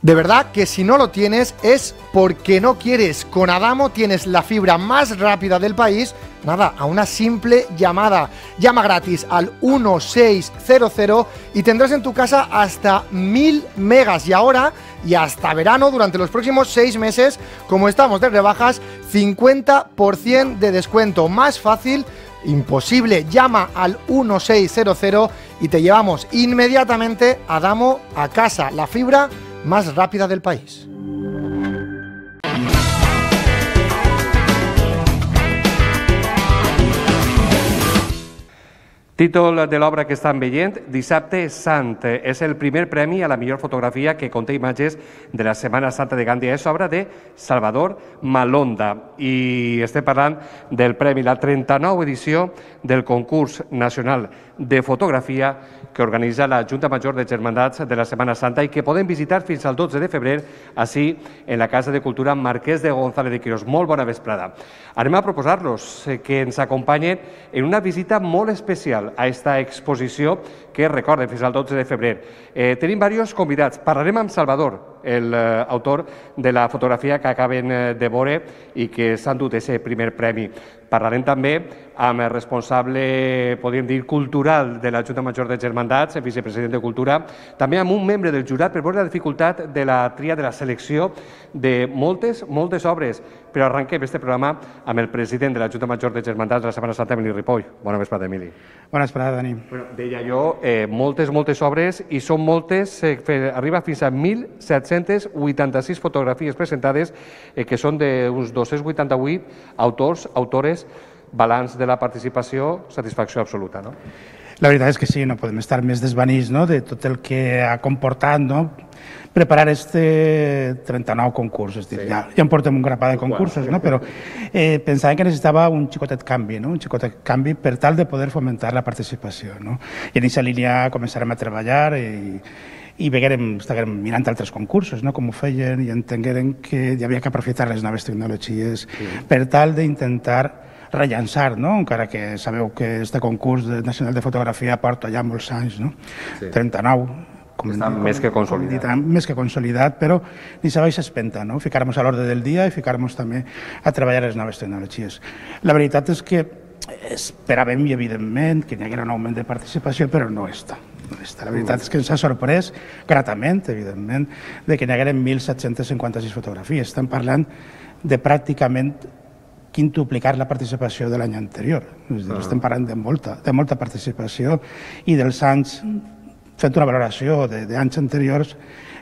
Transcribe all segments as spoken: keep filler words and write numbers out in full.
De verdad que si no lo tienes es porque no quieres. Con Adamo tienes la fibra más rápida del país, nada, a una simple llamada. Llama gratis al uno seis cero cero y tendrás en tu casa hasta mil megas. Y ahora, y hasta verano, durante los próximos seis meses, como estamos de rebajas, cincuenta por ciento de descuento. Más fácil imposible. Llama al uno seis cero cero y te llevamos inmediatamente a Adamo a casa. La fibra más rápida del país. Títol de l'obra que estan veient, Dissabte Sant. És el primer premi a la millor fotografia que conté imatges de la Setmana Santa de Gàndia. És obra de Salvador Malonda i estem parlant del premi, la trenta-nova edició del concurs nacional de fotografia que organitza la Junta Major de Germandats de la Setmana Santa i que podem visitar fins al dotze de febrer així en la Casa de Cultura Marquès de González de Quirós. Molt bona vesprada. Anem a proposar-los que ens acompanyen en una visita molt especial a esta exposició que recorden fins al dotze de febrer. Eh, tenim diversos convidats. Parlarem amb Salvador, el eh, autor de la fotografia que acaben eh, de veure i que s'han dut aquest primer premi. Parlarem també amb el responsable, podríem dir, cultural de la Junta Major de Germandats, el vicepresident de Cultura, també amb un membre del jurat per veure la dificultat de la tria de la selecció de moltes, moltes obres. Però arrenquem aquest programa amb el president de la Junta Major de Germandats de la Setmana Santa, Emili Ripoll. Bona vesprada, Emili. Bona vesprada, Dani. Bueno, deia jo, eh, moltes, moltes obres i són moltes, eh, arriba fins a mil set-cents vuitanta-sis fotografies presentades, eh, que són d'uns dos-cents vuitanta-vuit autors, autores, balanç de la participació, satisfacció absoluta, no? La veritat és que sí, no podem estar més desvanits, no?, de tot el que ha comportat, no?, preparar este trenta-nou concurs. És dir, sí. ja, ja en portem un grapà de concursos, no? Però eh, pensàvem que necessitava un xicotet canvi, no? Un xicotet canvi per tal de poder fomentar la participació, no? I en aquesta línia començarem a treballar i, i veguerem, estàvem mirant altres concursos, no? Com ho feien, i entengueren que hi havia que aprofitar les noves tecnologies sí. per tal d'intentar rellançar, no? Encara que sabeu que este concurs nacional de fotografia porta ja molts anys, no? Sí. trenta-nou. Com Està com, més que consolidat. Dit, més que consolidat, però ni se baixa espenta, no? Ficar-nos a l'ordre del dia i ficar-nos també a treballar les noves tecnologies. La veritat és que esperàvem, i evidentment, que hi haguera un augment de participació, però no està. No està. La veritat és que ens ha sorprès, gratament, evidentment, de que hi hagueren mil set-cents cinquanta-sis fotografies. Estem parlant de pràcticament quintuplicar la participació de l'any anterior. És dir, estem parlant de molta, de molta participació i dels anys, fent una valoració d'anys anteriors,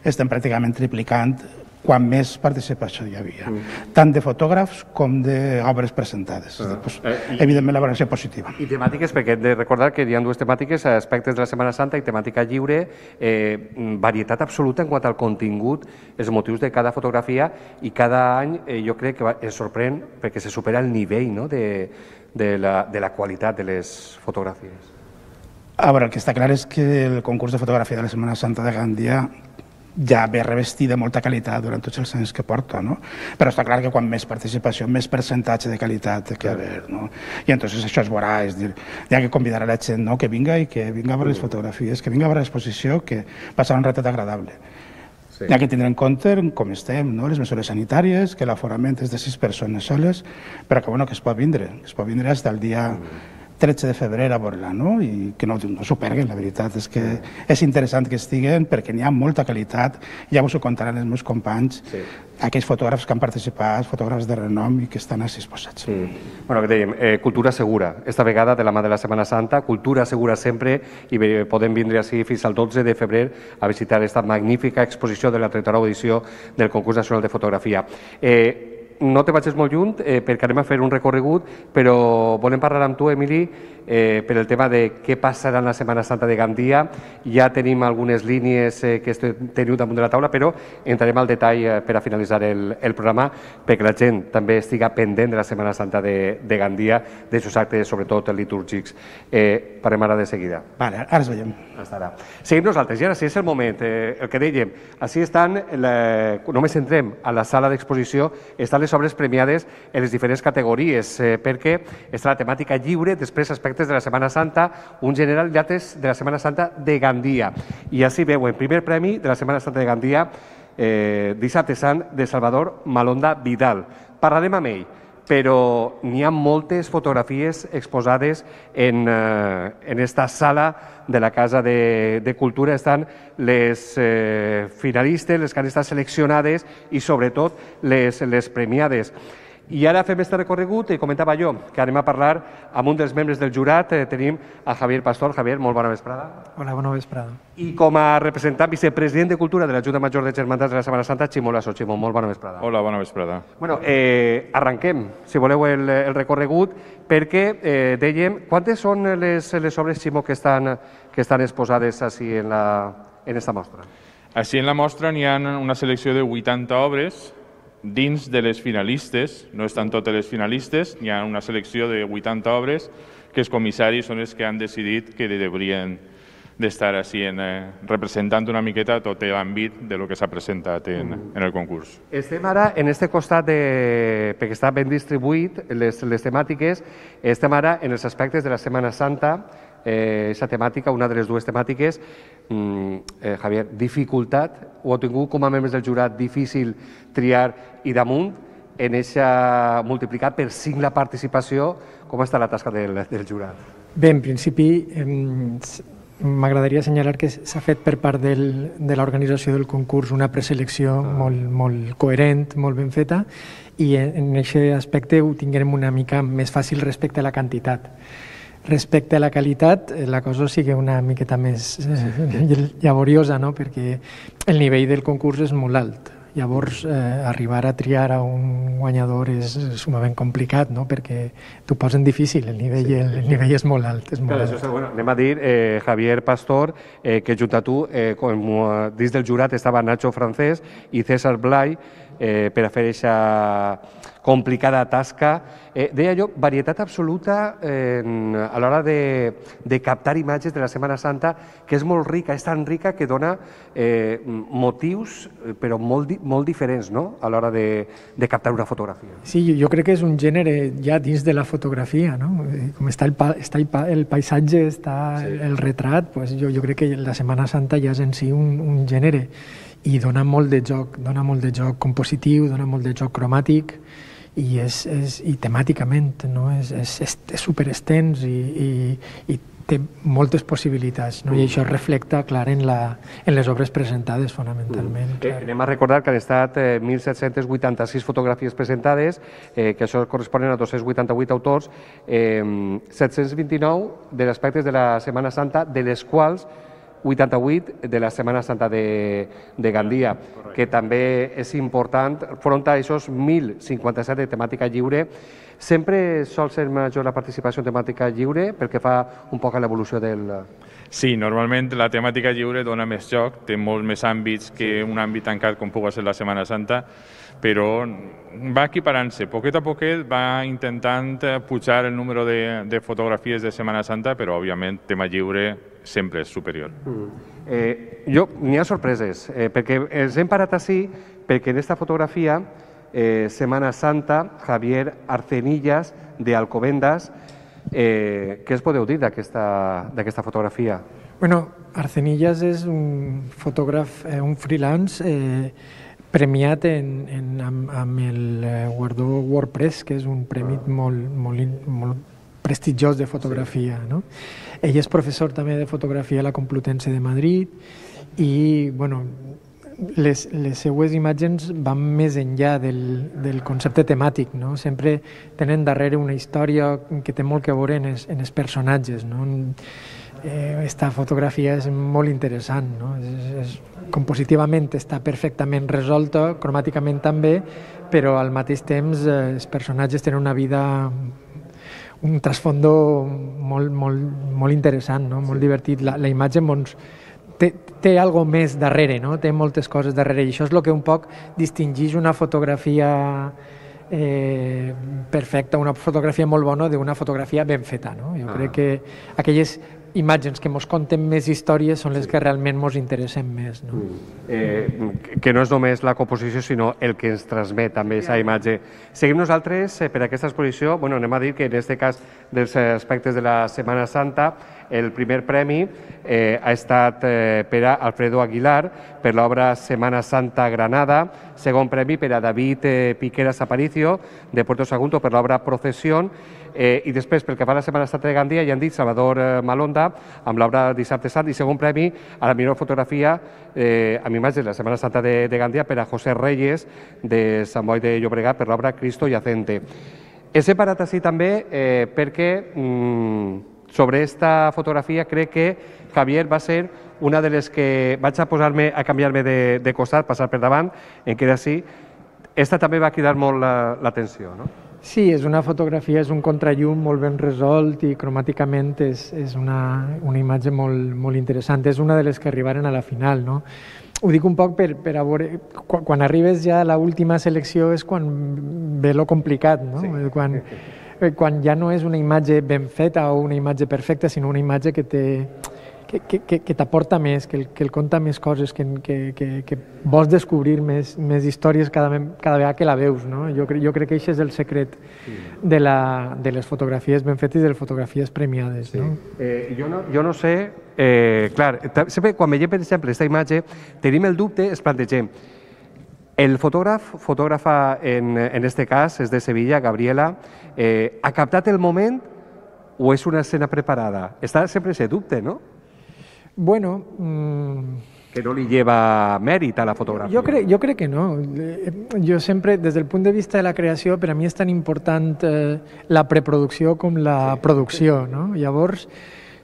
estem pràcticament triplicant quan més participació hi havia, mm. tant de fotògrafs com d'obres presentades. Ah. Pues, eh, i, evidentment, la valoració positiva. I temàtiques, perquè hem de recordar que hi ha dues temàtiques, aspectes de la Setmana Santa i temàtica lliure, eh, varietat absoluta en quant al contingut, els motius de cada fotografia, i cada any eh, jo crec que es sorprèn perquè se supera el nivell, no?, de, de, la, de la qualitat de les fotografies. A veure, el que està clar és que el concurs de fotografia de la Setmana Santa de Gàndia ja ve revestit de molta qualitat durant tots els anys que porta, no? Però està clar que quan més participació, més percentatge de qualitat que haver, no? I entonces això es veurà, és dir, hi ha que convidar a la gent, no?, que vinga i que vinga a veure les fotografies, que vinga a veure l'exposició, que passarà un ratet agradable. Sí. Hi ha que tindre en compte com estem, no?, les mesures sanitàries, que l'aforament és de sis persones soles, però que, bueno, que es pot vindre, que es pot vindre fins al dia tretze de febrer a veure-la, no? I que no, no s'ho perguen, la veritat és que és interessant que estiguen perquè n'hi ha molta qualitat, ja us ho contaran els meus companys, sí. aquells fotògrafs que han participat, fotògrafs de renom i que estan així exposats. Mm. Bueno, que dèiem, eh, cultura segura, esta vegada de la mà de la Setmana Santa, cultura segura sempre, i podem vindre així fins al dotze de febrer a visitar esta magnífica exposició de la trenta-nova edició del Concurs Nacional de Fotografia. Eh, No te vagis molt lluny eh, perquè anem a fer un recorregut, però volem parlar amb tu, Emili, eh, per el tema de què passarà en la Setmana Santa de Gandia. Ja tenim algunes línies eh, que teniu damunt de la taula, però entrarem al detall eh, per a finalitzar el, el programa perquè la gent també estiga pendent de la Setmana Santa de, de Gandia, de seus actes, sobretot litúrgics. Eh, parem ara de seguida. Vale, ara es veiem. Hasta ara. Seguim nosaltres, i ara sí és el moment, eh, el que dèiem, així estan, la, només entrem a la sala d'exposició, estan les obres premiades en les diferents categories, eh, perquè està la temàtica lliure, després aspectes de la Setmana Santa, un general i altres de la Setmana Santa de Gandia. I així veuen, primer premi de la Setmana Santa de Gandia, eh, Dissabte Sant de Salvador Malonda Vidal. Parlarem amb ell, però n'hi ha moltes fotografies exposades en, eh, en esta sala de la Casa de, de Cultura. Estan les eh, finalistes, les que han estat seleccionades i sobretot les, les premiades. I ara fem este recorregut i comentava jo que anem a parlar amb un dels membres del jurat. Eh, tenim a Javier Pastor. Javier, molt bona vesprada. Hola, bona vesprada. I com a representant vicepresident de Cultura de la Junta Major de Germandats de la Setmana Santa, Ximo Lasso. Ximo, molt bona vesprada. Hola, bona vesprada. Bueno, eh, arranquem, si voleu, el, el recorregut, perquè eh, dèiem, quantes són les, les obres, Ximo, que estan, que estan exposades així en, la, en esta mostra? Així en la mostra n'hi ha una selecció de vuitanta obres dins de les finalistes, no estan totes les finalistes, n'hi ha una selecció de vuitanta obres que els comissaris són els que han decidit que deurien d'estar així en, eh, representant una miqueta tot l'àmbit de lo que s'ha presentat en, en el concurs. Estem ara en este costat, de, perquè està ben distribuït les, les temàtiques, estem ara en els aspectes de la Setmana Santa, eh, esa temàtica, una de les dues temàtiques. Mm, eh, Javier, dificultat, ho heu tingut com a membres del jurat difícil triar i damunt, en eixa multiplicat per cinc la participació, com està la tasca del, del jurat? Bé, en principi, eh, m'agradaria assenyalar que s'ha fet per part del, de l'organització del concurs una preselecció ah. molt, molt coherent, molt ben feta, i en aquest aspecte ho tinguem una mica més fàcil respecte a la quantitat. Respecte a la qualitat, la cosa sigui una miqueta més eh, llaboriosa, no? Perquè el nivell del concurs és molt alt. Llavors, eh, arribar a triar a un guanyador és sumament complicat, no? Perquè t'ho posen difícil, el nivell, sí. el, el nivell és molt alt. És molt Clar, alt. Això és, bueno, anem a dir, eh, Javier Pastor, eh, que junt a tu, eh, com, eh, dins del jurat estava Nacho Francés i César Blay, eh, per a fer aquesta complicada tasca. Eh, deia jo, varietat absoluta eh, a l'hora de, de captar imatges de la Setmana Santa, que és molt rica, és tan rica que dona eh, motius, però molt, molt diferents, no?, a l'hora de, de captar una fotografia. Sí, jo crec que és un gènere ja dins de la fotografia, no? Com està el, pa, està el, pa, el paisatge, està sí. el retrat, pues jo, jo crec que la Setmana Santa ja és en si un, un gènere i dona molt de joc, dona molt de joc compositiu, dona molt de joc cromàtic i, és, és, i temàticament, no? és, és, és, és superextens i, i, i té moltes possibilitats, no? I això es reflecta clar en, la, en les obres presentades fonamentalment. Mm. Eh, anem a recordar que han estat eh, mil set-cents vuitanta-sis fotografies presentades, eh, que això corresponen a dos-cents vuitanta-vuit autors, eh, set-cents vint-i-nou de les aspectes de la Setmana Santa, de les quals vuitanta-vuit de la Setmana Santa de, de Gandia, Correcte. Que també és important, front a aquests mil cinquanta-set de temàtica lliure. Sempre sol ser major la participació en temàtica lliure perquè fa un poc a l'evolució del... Sí, normalment la temàtica lliure dona més joc, té molts més àmbits que un àmbit tancat com pugui ser la Setmana Santa, però va equiparant-se. Poquet a poquet va intentant pujar el número de, de fotografies de Setmana Santa, però òbviament tema lliure sempre és superior. Mm. Eh, jo, n'hi ha sorpreses, eh, perquè els hem parat així, perquè en esta fotografia, eh, Setmana Santa, Javier Arcenillas, de Alcobendas, eh, què es podeu dir d'aquesta fotografia? Bueno, Arcenillas és un fotògraf, eh, un freelance, eh, premiat en, en, amb, amb el guardó WordPress, que és un premi molt, molt, molt prestigiós de fotografia. No? Ell és professor també de fotografia a la Complutense de Madrid i bueno, les, les seues imatges van més enllà del, del concepte temàtic. No? Sempre tenen darrere una història que té molt que veure en els, en els personatges. No? Eh, esta fotografia és molt interessant, no? és, és, compositivament està perfectament resolta, cromàticament també, però al mateix temps eh, els personatges tenen una vida, un trasfondo molt, molt, molt interessant, no? Molt divertit. La, la imatge doncs, té, té algo més darrere, no? Té moltes coses darrere, i això és el que un poc distingeix una fotografia eh, perfecta, una fotografia molt bona d'una fotografia ben feta. No? Jo ah. crec que aquelles imatges que ens conten més històries són les sí. que realment ens interessen més. No? Eh, que no és només la composició, sinó el que ens transmet també aquesta imatge. Seguim nosaltres eh, per aquesta exposició. Bueno, anem a dir que en aquest cas dels aspectes de la Setmana Santa El primer premi eh, ha estat eh, per a Alfredo Aguilar per l'obra Semana Santa Granada, segon premi per a David eh, Piqueras Aparicio de Puerto Sagunto per l'obra Procesión, eh, i després pel que fa a la Setmana Santa de Gandia ja han dit Salvador eh, Malonda amb l'obra Dissabte Sant, i segon premi a la millor fotografia eh, amb imatges de la Setmana Santa de, de Gandia per a José Reyes de Sant Boi de Llobregat per l'obra Cristo Yacente. He separat així també eh, perquè mm, sobre esta fotografia crec que Javier va ser una de les que vaig a posar-me a canviar-me de, de costat, passar per davant, en què era així. Esta també va cridar molt l'atenció, no? Sí, és una fotografia, és un contrallum molt ben resolt i cromàticament és, és una, una imatge molt, molt interessant. És una de les que arribaren a la final, no? Ho dic un poc per, per a veure, quan, quan arribes ja a l'última selecció és quan ve lo complicat, no? Sí. Quan, quan ja no és una imatge ben feta o una imatge perfecta, sinó una imatge que té que, que, que, que t'aporta més, que, que el conta més coses, que, que, que, que vols descobrir més, més històries cada, cada vegada que la veus, no? Jo, jo crec que això és el secret de, la, de les fotografies ben fetes i de les fotografies premiades, sí. No? Eh, jo, no, jo no sé, eh, clar, sempre quan veiem, per exemple, aquesta imatge, tenim el dubte, es plantegem, el fotògraf, fotògrafa en, en este cas, és de Sevilla, Gabriela, eh, ha captat el moment o és una escena preparada? Està sempre ese dubte, no? Bueno... Mmm... Que no li lleva mèrit a la fotografia. Jo crec, jo crec que no. Jo sempre, des del punt de vista de la creació, per a mi és tan important eh, la preproducció com la sí. producció, no? Llavors,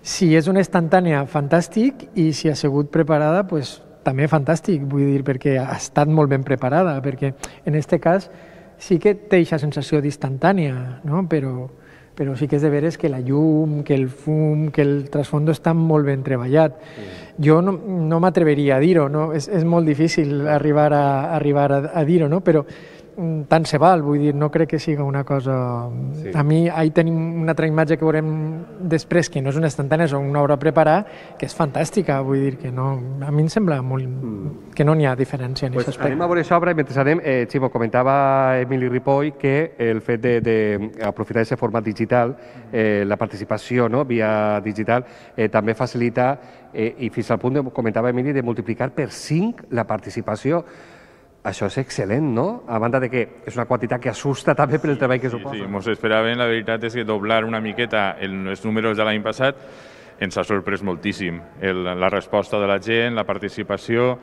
si és una instantània, fantàstic, i si ha sigut preparada, pues, també fantàstic, vull dir, perquè ha estat molt ben preparada, perquè en aquest cas sí que té aquesta sensació d'instantània, no? Però... però sí que és de veres que la llum, que el fum, que el trasfondo està molt ben treballat. Sí. Jo no, no m'atreveria a dir-ho, no? És, és molt difícil arribar a, arribar a, a dir-ho, no? Però tant se val, vull dir, no crec que siga una cosa... Sí. A mi, ahí tenim una altra imatge que veurem després, que no és una instantània, és una obra preparada, que és fantàstica, vull dir, que no... A mi em sembla molt... Mm. que no n'hi ha diferència en pues aquest aspecte. Anem a veure aquesta obra i mentre anem, eh, Ximo, comentava Emili Ripoll que el fet d'aprofitar aquest format digital, eh, la participació, no?, via digital, eh, també facilita, eh, i fins al punt, de, comentava Emili, de multiplicar per cinc la participació. Això és excel·lent, no? A banda de que és una quantitat que assusta també per el treball que suposa. Sí, sí, mos esperaven, la veritat és que doblar una miqueta els números de l'any passat ens ha sorprès moltíssim. El, la resposta de la gent, la participació,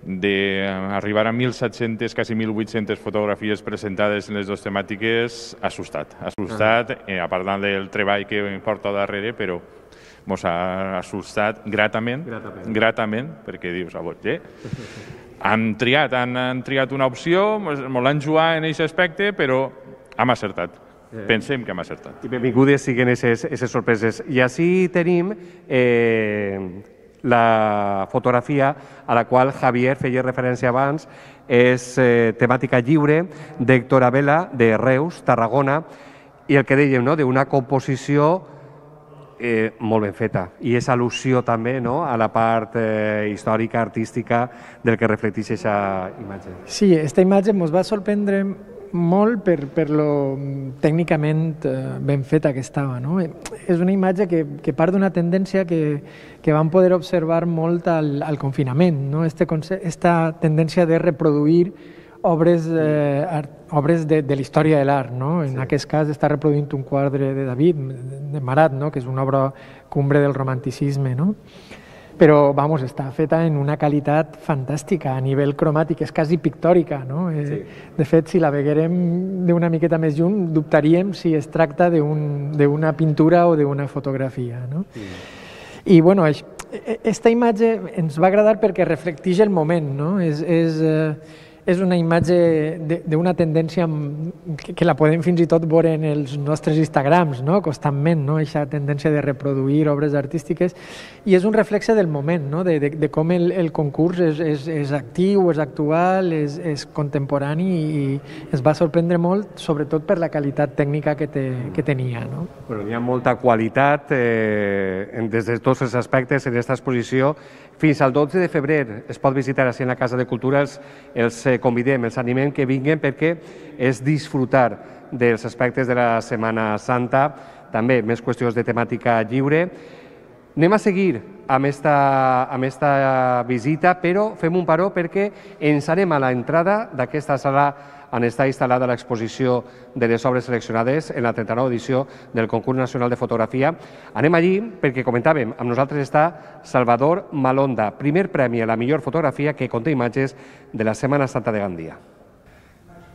d'arribar a mil set-centes, quasi mil vuit-centes fotografies presentades en les dues temàtiques, ha assustat. Ha assustat, eh, a part del treball que porta darrere, però mos ha assustat gratament, gratament, gratament perquè dius, a veure, han triat, han, han triat una opció, mos l'han jugat en aquest aspecte, però hem acertat. Pensem que hem acertat. I benvingudes siguen aquestes sorpreses. I així tenim eh, la fotografia a la qual Javier feia referència abans, és eh, temàtica lliure d'Héctor Abela, de Reus, Tarragona, i el que dèiem, no?, d'una composició eh, molt ben feta. I és al·lusió també, no?, a la part eh, històrica, artística del que reflecteix aquesta imatge. Sí, aquesta imatge ens va sorprendre molt per, per lo tècnicament ben feta que estava, no? És una imatge que, que part d'una tendència que, que vam poder observar molt al, al confinament, no? Este, esta tendència de reproduir obres, eh, art, obres de, de la història de l'art, no? En sí. aquest cas està reproduint un quadre de David, de Marat, no? Que és una obra cumbre del romanticisme, no? Però, vamos, està feta en una qualitat fantàstica, a nivell cromàtic, és quasi pictòrica, no? Sí. De fet, si la veguérem d'una miqueta més lluny, dubtaríem si es tracta d'una pintura o d'una fotografia, no? Sí. I, bueno, aquesta imatge ens va agradar perquè reflecteix el moment, no? És, és, és una imatge d'una tendència que la podem fins i tot veure en els nostres Instagrams, no? Constantment, no? Aquesta tendència de reproduir obres artístiques, i és un reflexe del moment, no? de, de, de com el, el concurs és, és, és actiu, és actual, és, és contemporani, i ens va sorprendre molt, sobretot per la qualitat tècnica que, te, que tenia. No? Bueno, hi ha molta qualitat eh, des de tots els aspectes en aquesta exposició. Fins al dotze de febrer es pot visitar així en la Casa de Cultura. Els, els convidem, els animem que vinguin perquè és disfrutar dels aspectes de la Setmana Santa, també més qüestions de temàtica lliure. Anem a seguir amb esta, amb esta visita, però fem un paró perquè ens anem a l'entrada d'aquesta sala on està instal·lada l'exposició de les obres seleccionades en la trenta-nova edició del Concurs Nacional de Fotografia. Anem allí perquè, comentàvem, amb nosaltres està Salvador Malonda, primer premi a la millor fotografia que conté imatges de la Setmana Santa de Gandia.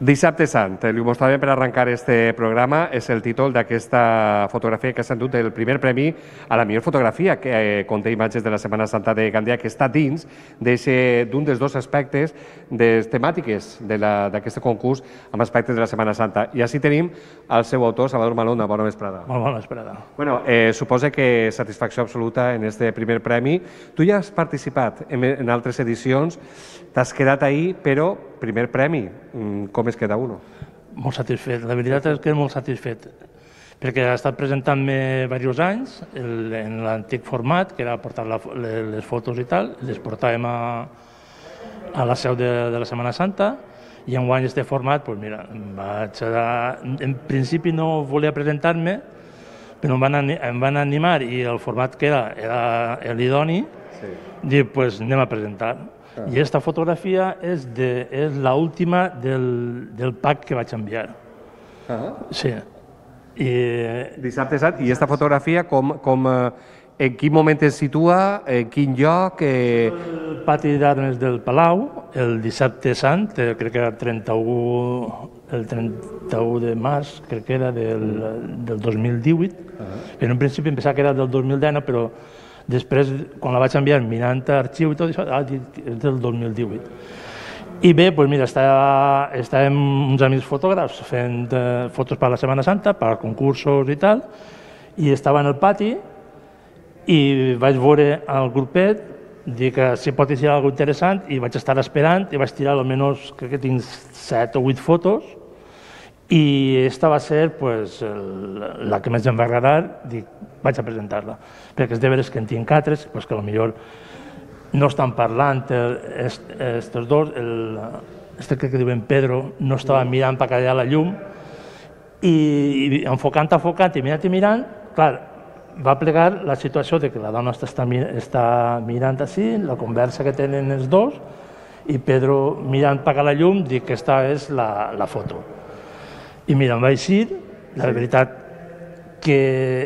Dissabte Sant, li mostrarem per arrencar este programa, és el títol d'aquesta fotografia que s'ha endut el primer premi a la millor fotografia que conté imatges de la Setmana Santa de Gandia, que està dins d'un dels dos aspectes de temàtiques d'aquest concurs amb aspectes de la Setmana Santa. I així tenim el seu autor, Salvador Malonda. Bona vesprada. Molt bona vesprada. Bueno, eh, suposa que satisfacció absoluta en este primer premi. Tu ja has participat en, en altres edicions, t'has quedat ahí, però primer premi, com es queda uno? Molt satisfet, la veritat és que molt satisfet, perquè ha estat presentant-me diversos anys el, en l'antic format, que era portar la, les fotos i tal, les portàvem a, a la seu de, de la Setmana Santa, i enguany este format, doncs mira, vaig a, en principi no volia presentar-me, però em van, em van animar i el format que era, era l'idoni, sí. Dic, doncs pues, anem a presentar. Ah. I aquesta fotografia és, de, és l'última del, del pack que vaig enviar. Ah. Sí. I, Dissabte Sant. I aquesta fotografia, com, com, en quin moment es situa, en quin lloc? Eh... El pati d'armes del Palau, el Dissabte Sant, crec que era el trenta-u, el trenta-u de març, crec que era del, del dos mil divuit. Ah. Però en principi em pensava que era del dos mil dinou, però després, quan la vaig enviar mirant arxiu i tot això, ah, és del dos mil divuit. I bé, doncs mira, estava, estàvem uns amics fotògrafs fent eh, fotos per la Setmana Santa, per concursos i tal, i estava en el pati i vaig veure el grupet, dir que si pot ser alguna cosa interessant, i vaig estar esperant i vaig tirar almenys, crec que tinc set o vuit fotos, i aquesta va ser pues, el, la que més em va agradar, dic, vaig a presentar-la, perquè és de veres que en tinc altres, pues, que potser no estan parlant aquests dos, el, este crec que diuen Pedro, no estava mirant per callar la llum, i, i enfocant, enfocant i mirant i mirant, clar, va plegar la situació de que la dona està, està mirant així, la conversa que tenen els dos, i Pedro mirant per callar la llum, dic que aquesta és la, la foto. I mira, em vaig eixir, la veritat que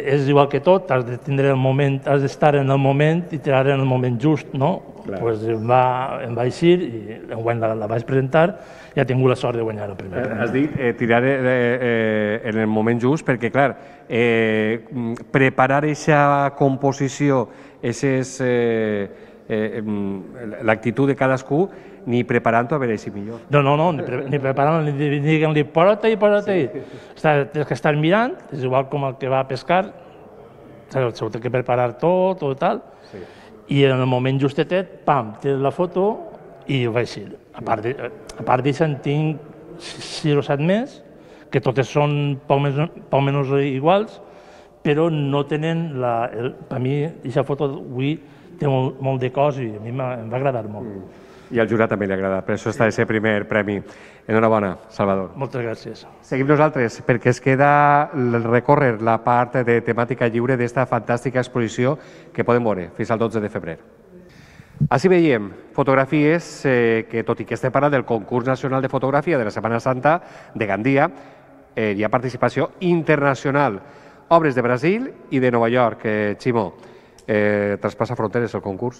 és igual que tot, has de tindre el moment, has d'estar en el moment i tirar en el moment just, no? Doncs pues em, va, em vaig eixir i enguany la, la vaig presentar i he tingut la sort de guanyar el primer premi. Has dit eh, tirar eh, eh, en el moment just perquè, clar, eh, preparar aquesta composició, aquestes... Eh, Eh, l'actitud de cadascú, ni preparant-ho a veure si millor. No, no, no, ni, pre ni preparant, ni diguem-li posa-te i posa-te. Sí. Tens que estar mirant, és igual com el que va a pescar, s'ho té que preparar tot o tal, sí. I en el moment justetet, pam, tens la foto i ho vaig dir. A part d'això en tinc sis o set més, que totes són poc més o menys iguals, però no tenen, la, el, per mi, aquesta foto avui té molt, molt de cos i a mi em va agradar molt. Mm. I al jurat també li ha agradat, per això està aquest primer premi. Enhorabona, Salvador. Moltes gràcies. Seguim nosaltres, perquè es queda recórrer la part de temàtica lliure d'esta fantàstica exposició que podem veure fins al dotze de febrer. Així veiem fotografies eh, que, tot i que estem parlant del Concurs Nacional de Fotografia de la Setmana Santa de Gandia, eh, hi ha participació internacional. Obres de Brasil i de Nova York, eh, Ximo. Eh, traspassa fronteres el concurs?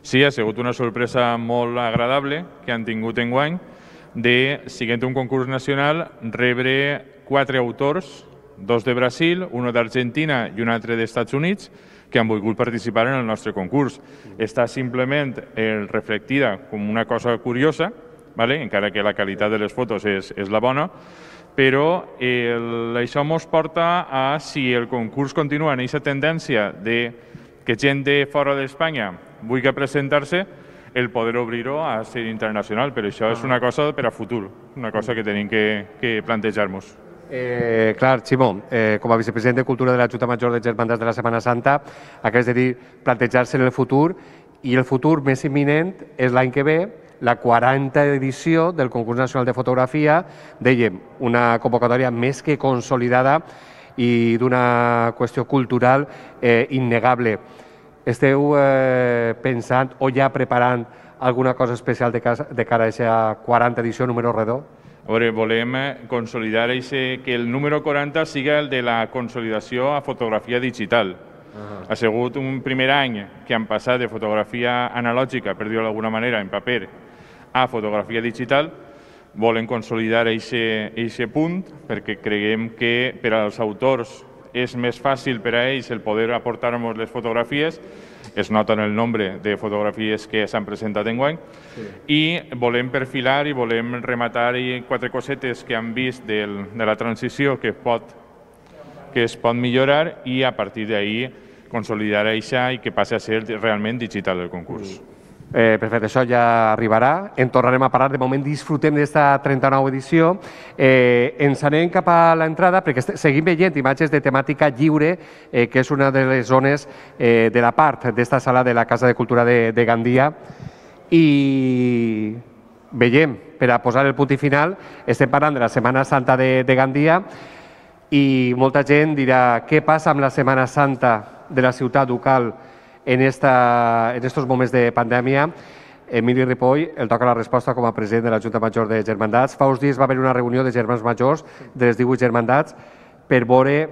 Sí, ha sigut una sorpresa molt agradable que han tingut enguany de, siguent un concurs nacional, rebre quatre autors, dos de Brasil, un d'Argentina i un altre dels Estats Units, que han volgut participar en el nostre concurs. Està simplement eh, reflectida com una cosa curiosa, ¿vale? Encara que la qualitat de les fotos és, és la bona, però el, això ens porta a, si el concurs continua en aquesta tendència de que gent de fora d'Espanya vulgui presentar-se, el poder obrir-ho a ser internacional, però això és una cosa per a futur, una cosa que tenim que, que plantejar-nos. Eh, clar, Ximo, eh, com a vicepresident de Cultura de la Junta Major de Germandats de la Setmana Santa, acabes de dir plantejar-se en el futur, i el futur més imminent és l'any que ve, la quaranta edició del Concurs Nacional de Fotografia, dèiem, una convocatòria més que consolidada i d'una qüestió cultural eh, innegable. esteu eh, pensant o ja preparant alguna cosa especial de, casa, de cara a aquesta quaranta edició número redó? A veure, volem consolidar eixe, que el número quaranta siga el de la consolidació a fotografia digital. Uh-huh. Ha sigut un primer any que han passat de fotografia analògica, per dir-ho d'alguna manera, en paper, a fotografia digital. Volen consolidar aquest punt perquè creiem que per als autors és més fàcil per a ells el poder aportar-nos les fotografies, es nota en el nombre de fotografies que s'han presentat enguany, sí. I volem perfilar i volem rematar quatre cosetes que han vist del, de la transició que, pot, que es pot millorar i a partir d'ahí consolidar això i que passi a ser realment digital el concurs. Mm. Eh, perfecte, això ja arribarà. En tornarem a parlar. De moment disfrutem d'esta trenta-nova edició. Eh, ens anem cap a l'entrada perquè seguim veient imatges de temàtica lliure, eh, que és una de les zones eh, de la part d'esta sala de la Casa de Cultura de, de Gandia. I veiem, per a posar el punt i final, estem parlant de la Setmana Santa de, de Gandia i molta gent dirà què passa amb la Setmana Santa de la ciutat ducal en, esta, en estos moments de pandèmia. Emili Ripoll, el toca la resposta com a president de la Junta Major de Germandats. Fa uns dies va haver una reunió de germans majors de les divuit germandats per veure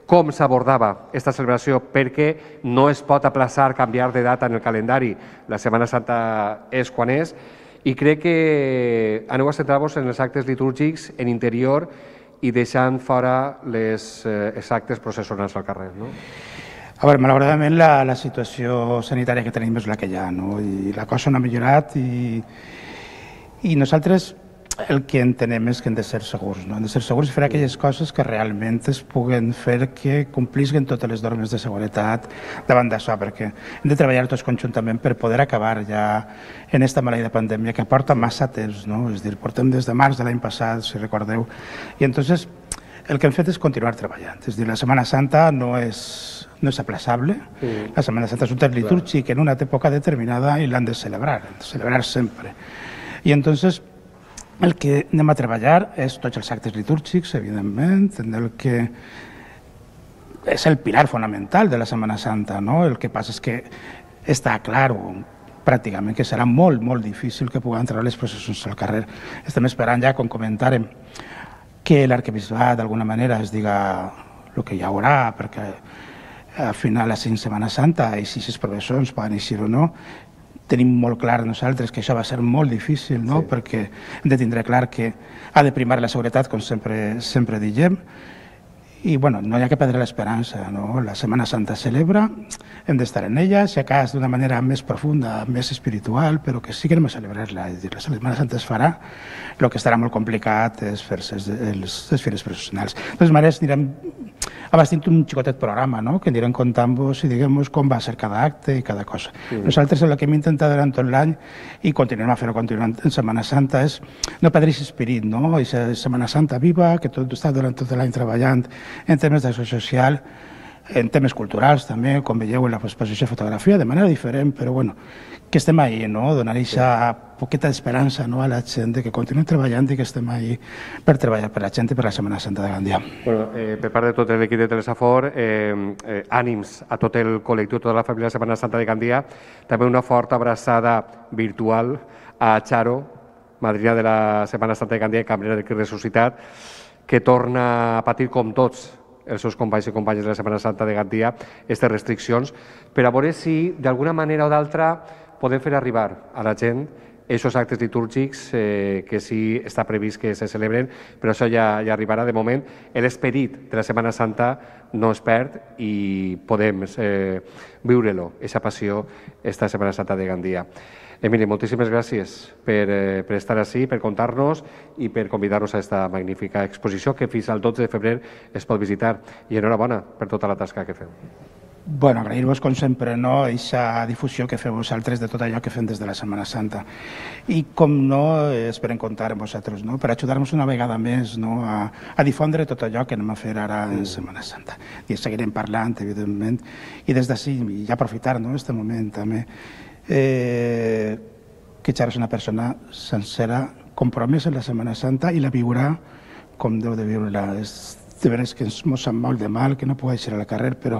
com s'abordava aquesta celebració, perquè no es pot aplaçar, canviar de data en el calendari. La Setmana Santa és quan és, i crec que aneu a centrar-vos en els actes litúrgics en interior i deixant fora les, eh, els actes processionals al carrer, no? A veure, malauradament la, la situació sanitària que tenim és la que hi ha, no? I la cosa no ha millorat i, i nosaltres el que entenem és que hem de ser segurs, no? Hem de ser segurs i fer aquelles coses que realment es puguen fer que complisquen totes les normes de seguretat davant d'això, perquè hem de treballar tots conjuntament per poder acabar ja en esta maleïda pandèmia que porta massa temps, no? És a dir, portem des de març de l'any passat, si recordeu, i entonces el que hem fet és continuar treballant. És a dir, la Setmana Santa no és no és aplaçable. Sí. La Setmana Santa és un temps litúrgic en una època determinada i l'han de celebrar, de celebrar sempre. I entonces el que anem a treballar és tots els actes litúrgics, evidentment, en el que és el pilar fonamental de la Setmana Santa, no? El que passa és que està clar pràcticament que serà molt, molt difícil que puguem treure les processions al carrer. Estem esperant ja, com comentàrem, que l'arquebisbat d'alguna manera es diga el que hi haurà, perquè al final la Setmana Santa i si les professors poden eixir o no, tenim molt clar nosaltres que això va ser molt difícil, no? Sí. Perquè hem de tindre clar que ha de primar la seguretat, com sempre, sempre diguem, i bueno, no hi ha que perdre l'esperança, no? La Setmana Santa es celebra, hem d'estar en ella, si a cas d'una manera més profunda, més espiritual, però que sí que anem a celebrar-la. És a dir, la Setmana Santa es farà, el que estarà molt complicat és fer-se les fires processionals. De totes maneres, anirem abastint un xicotet programa, no? Que anirem contant-vos i diguem-vos com va ser cada acte i cada cosa. Sí. Nosaltres el que hem intentat durant tot l'any i continuem a fer-ho continuant en Setmana Santa és no perdre aquest esperit, no? Aquesta Setmana Santa viva, que tot està durant tot l'any treballant en temes d'acció social, en temes culturals també, com veieu en l'exposició de fotografia, de manera diferent, però bueno, que estem ahí, no? Donar aquesta poqueta d'esperança, no, a la gent de que continuem treballant i que estem ahí per treballar per la gent i per la Setmana Santa de Gandia. Bueno, eh, per part de tot l'equip de Telesafor, eh, eh, ànims a tot el col·lectiu, tota la família de Setmana Santa de Gandia, també una forta abraçada virtual a Charo, madrina de la Setmana Santa de Gandia i cambrera del Crist Ressuscitat, que torna a patir com tots els seus companys i companyes de la Setmana Santa de Gandia aquestes restriccions, per a veure si d'alguna manera o d'altra podem fer arribar a la gent aquests actes litúrgics eh, que sí està previst que se celebren, però això ja, ja arribarà. De moment, l'esperit de la Setmana Santa no es perd i podem eh, viure-lo, aquesta passió, esta Setmana Santa de Gandia. Emili, moltíssimes gràcies per, eh, per estar així, per contar-nos i per convidar-nos a aquesta magnífica exposició que fins al dotze de febrer es pot visitar. I enhorabona per tota la tasca que feu. Bueno, agrair-vos, com sempre, no, aquesta difusió que feu vosaltres de tot allò que fem des de la Setmana Santa. I, com no, esperem comptar amb vosaltres, no?, per ajudar-nos una vegada més, no?, a, a difondre tot allò que anem a fer ara en Setmana Santa. I seguirem parlant, evidentment, i des d'ací, i aprofitar, no?, este moment també, eh, que Charo és una persona sencera, compromesa en la Setmana Santa i la viurà com deu de viure-la. És de veres que ens sap molt de mal, que no pugui eixir al carrer, però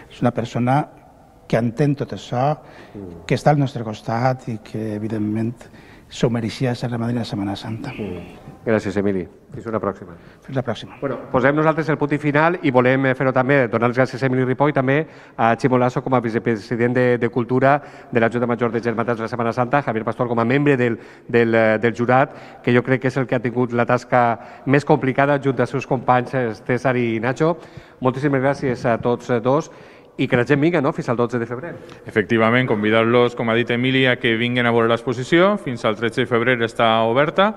és una persona que entén tot això, que està al nostre costat i que, evidentment, s'ho mereixia ser Ramaderia de Setmana Santa. Gràcies, Emili. Fins una pròxima. Fins la pròxima. Bueno, posem nosaltres el punt i final i volem fer-ho també, donar les gràcies a Emili Ripoll i també a Ximo Lasso com a vicepresident de, de Cultura de la Junta Major de Germantats de la Setmana Santa, Javier Pastor com a membre del, del, del jurat, que jo crec que és el que ha tingut la tasca més complicada junt als seus companys César i Nacho. Moltíssimes gràcies a tots dos i que la gent vingui, no?, fins al dotze de febrer. Efectivament, convidar-los, com ha dit Emili, a que vinguin a veure l'exposició. Fins al tretze de febrer està oberta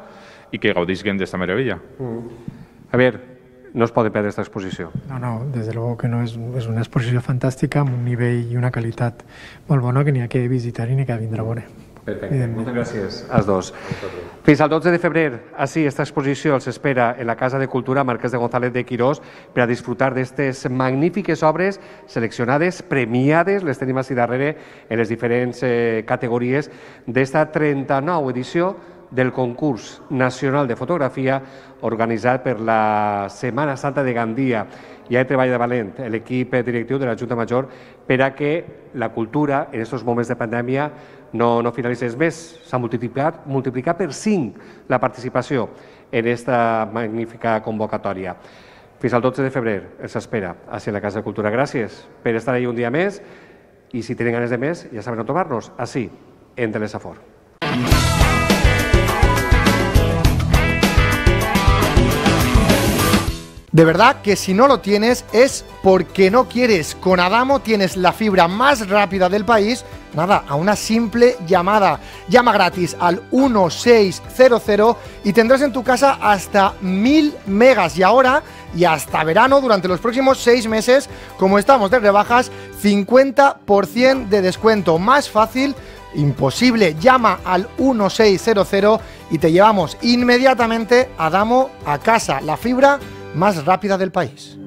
i que gaudisquen d'esta meravella. Mm. Javier, no es poden perdre aquesta exposició. No, no, des de luego que no, és, és una exposició fantàstica amb un nivell i una qualitat molt bona que n'hi ha que visitar i n'hi ha que vindre a veure. Perfecte, moltes gràcies als dos. Fins al dotze de febrer, així, esta exposició els espera en la Casa de Cultura Marquès de González de Quirós per a disfrutar d'aquestes magnífiques obres seleccionades, premiades, les tenim així darrere en les diferents eh, categories d'esta trenta-nova edició del concurs nacional de fotografia organitzat per la Setmana Santa de Gandia. Hi ha treball de valent l'equip directiu de la Junta Major per a que la cultura en aquests moments de pandèmia no, no finalitzés més. S'ha multiplicat, multiplicat per cinc la participació en aquesta magnífica convocatòria. Fins al dotze de febrer els espera així a la Casa de Cultura. Gràcies per estar ahí un dia més i si tenen ganes de més ja saben on trobar-nos, així, en Telesafor. De verdad que si no lo tienes es porque no quieres. Con Adamo tienes la fibra más rápida del país, nada, a una simple llamada. Llama gratis al uno seis cero cero y tendrás en tu casa hasta mil megas. Y ahora, y hasta verano, durante los próximos seis meses, como estamos de rebajas, cincuenta por ciento de descuento. Más fácil, imposible. Llama al uno seis cero cero y te llevamos inmediatamente Adamo a casa. La fibra más rápida del país.